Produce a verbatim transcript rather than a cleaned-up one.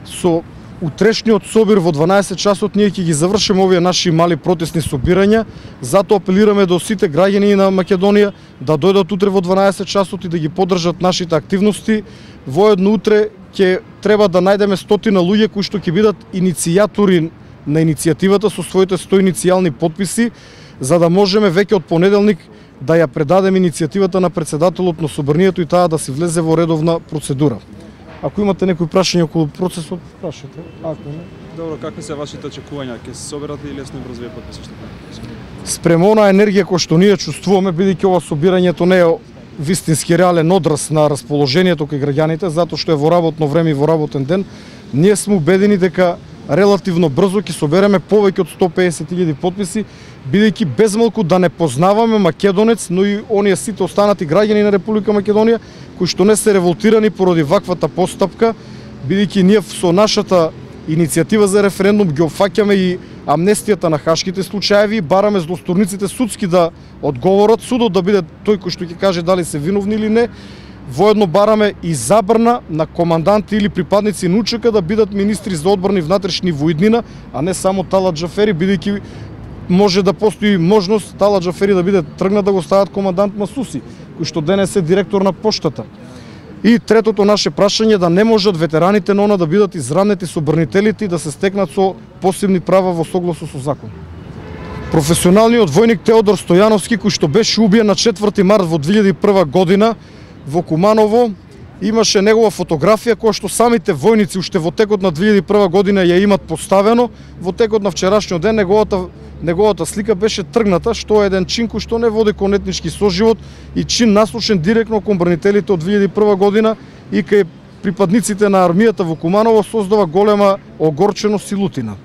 Со утрешниот собир во дванаесет часот ние ќе ги завршиме овие наши мали протестни собирања, затоа апелираме до сите граѓани на Македонија да дојдат утре во дванаесет часот и да ги поддржат нашите активности. Воедно утре ќе треба да најдеме стотина луѓе кои што ќе бидат иницијатори на иницијативата со своите сто иницијални потписи, за да можеме веќе од понеделник да ја предадеме иницијативата на председателот на собранието и таа да се влезе во редовна процедура. Ако имате некои прашања околу процесот, прашате. Ако не. Добро, какви се вашите очекувања? Ќе се соберате или лесно и брзо вие потписи што правите? Спрема онаа енергија која што ние чувствуваме, бидејќи ова собирањето не е вистински реален одраз на расположението кај граѓаните, затоа што е во работно време и во работен ден, ние сме убедени дека релативно брзо ќе собереме повеќе од сто песет илјади потписи, бидејќи безмалку да не познаваме македонец, но и оние сите останати граѓани на Република Македонија кои што не се револтирани поради ваквата постапка, бидејќи ние со нашата иницијатива за референдум ги опфаќаме и амнестијата на хашките случаеви, бараме злосторниците судски да одговорат, судот да биде тој кој што ќе каже дали се виновни или не. Воедно бараме и забрана на команданти или припадници на УЧК да бидат министри за одбрана и внатрешни во иднина, а не само Талат Џафери, бидејќи може да постои можност Талат Џафери да биде тргнат да го стават командант Масуси, кој што денес е директор на поштата. И третото наше прашање да не можат ветераните на она да бидат изранети со брнителите и да се стекнат со посебни права во согласно со закон. Професионалниот војник Теодор Стојановски, кој што беше убиен на четврти март во две илјади и прва година во Куманово, имаше негова фотографија која што самите војници уште во текот на две илјади и прва година ја имат поставено. Во текот на вчерашниот ден неговата неговата слика беше тргната, што е еден чин кој што не води кон етнички соживот и чин наслушен директно кон бранителите од две илјади и прва година и кај припадниците на армијата во Куманово создава голема огорченост и лутина.